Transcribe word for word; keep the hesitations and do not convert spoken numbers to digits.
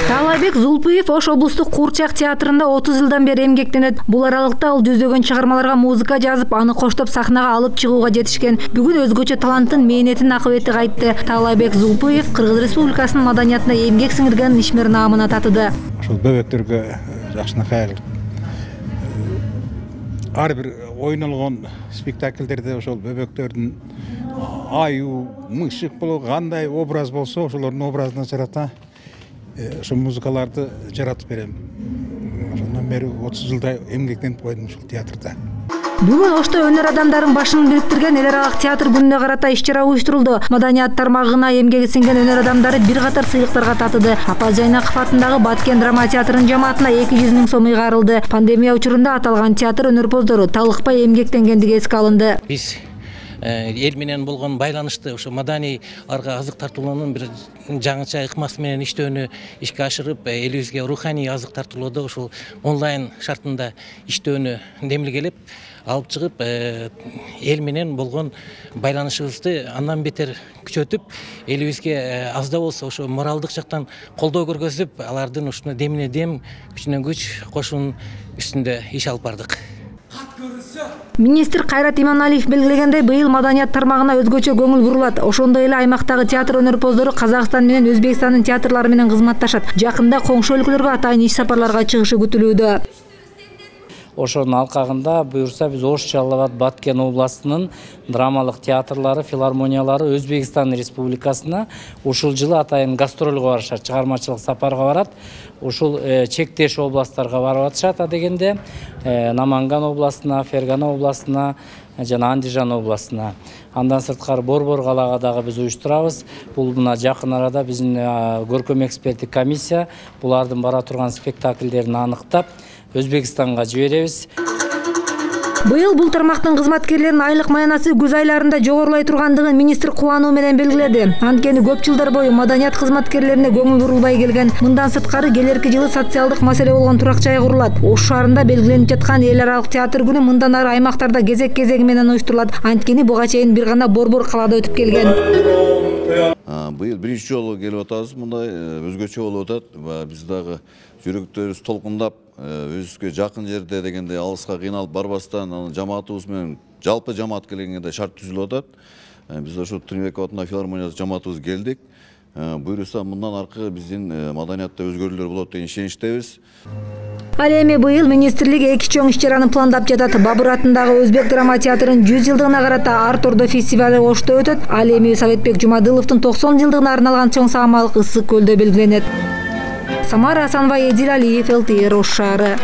Таалайбек Зулпуев Ош облустук Куурчак театрында отуз жылдан бери эмгектенет. Бул аралыкта ал жүздөгөн чыгармаларга музыка жазып, аны коштоп сахнага алып чыгууга жетишкен. Бүгүн өзгөчө таланттын мээнетин акыбети кайтты. Таалайбек Зулпуев Кыргыз Республикасынын маданиятына эмгек сиңирген ишмер наамына татыды. Ошол бөбөктөргө жакшынакай ар бир ойнолгон спектакльдерде ошол бөбөктөрдүн аюу, мышык болобу кандай образ болсо, ошолордун образына жарата ошол музыкаларды жаратып берем. Ошондон бери отуз жылдай эмгектенип койдум ушул театрда. Бүгүн Ошто өнөр адамдарын башын бириктирген эл аралык театр күнүнө карата иш-чара уюштурулду. Маданият тармагына эмгеги сиңген өнөр адамдары бир катар сыйлыктарга татыды. Апаз Жайнаков атындагы Баткен драма театрынын жамаатына эки жүз миң сом ыйгарылды. Пандемия учурунда аталган театр өнөрпоздору талыкпай эмгектенгендиги эске алынды. Биз эл менен болгон байланышты ошо маданий арга азык тартуулоонун бир жаңыча ыкмасы менен иштөөнү ишке ашырып, элибизге руханий азык тартуулоодо ушул онлайн шартында иштөөнү демилгелеп алып чыгып, эл менен болгон байланышыбызды андан бетер күчөтүп, элибизге аз да болсо ошо моралдык жактан колдоо көргөзүп, алардын ушуна демине дем, күчүнө күч кошуунун үстүндө иш алып бардык. Министр Кайрат Иманалиев белгилегендей, быйыл маданият тармагына өзгөчө көңүл бурулат. Ошондой эле аймактагы театр өнөрпоздору Казакстан менен Өзбекстандын театрлары менен кызматташат. Жакында коңшу өлкөлөргө атайын иш сапарларга чыгышы күтүлүүдө. Ошонун алкагында буюрса биз Ош, Жалал Абад, Баткен областынын драмалык театрлары, филармониялары Өзбекстан Республикасына ушул жылы атайын гастролго барышат, чыгармачылык сапарга барат. Ушул чектеш областтарга барып атышат адегенде, Наманган областына, Фергана областына жана Андижан областына. Андан сырткары Борбор калаага дагы биз уюштурабыз. Бул мына жакын арада биздин көркөм эксперттик комиссия булардын бара турган спектакльдерин аныктап Өзбекстанга жиберебиз. Быйыл бул тармактын кызматкерлеринин айлык маянасы күз айларында жогорулай тургандыгын министр кубануу менен белгиледи. Анткени көп жылдар бою маданият кызматкерлерине көңүл бурулбай келген. Мындан сырткары келерки жылы социалдык маселе болгон турак жай курулат. Ош шаарында белгиленип жаткан эл аралык театр күнү мындан ары аймактарда кезек-кезеги менен уюштурулат. Анткени буга чейин бир гана Борбор калаада өтүп келген. Быйыл биринчи жолу келип атабыз, мындай өзгөчө болуп атат. Биз дагы жүрөктөрүбүз толкундап, өзүбүзгө жакын жерде дегенде алыска кыйналып барбастан, жамаатыбыз менен жалпы жамаат келгенде шарт түзүлүп атат. Биз ошо Тыныбеков атындагы филармония жамаатыбыз келдик. Буюрса мындан аркы биздин маданиятта өзгөрүүлөр болот деген ишеничтебиз. Ал эми быйыл министрлик эки чоң иш-чараны пландап жатат. Бабыр атындагы Өзбек драма театрынын жүз жылдыгына карата Арт Ордо фестивали Ошто өтөт. Ал эми Советбек Жумадыловдун токсон жылдыгына арналган чоң саамалык Ысык көлдө белгиленет. Самара Асанова, Эдил Алиев, эл ти эр Ош шаары.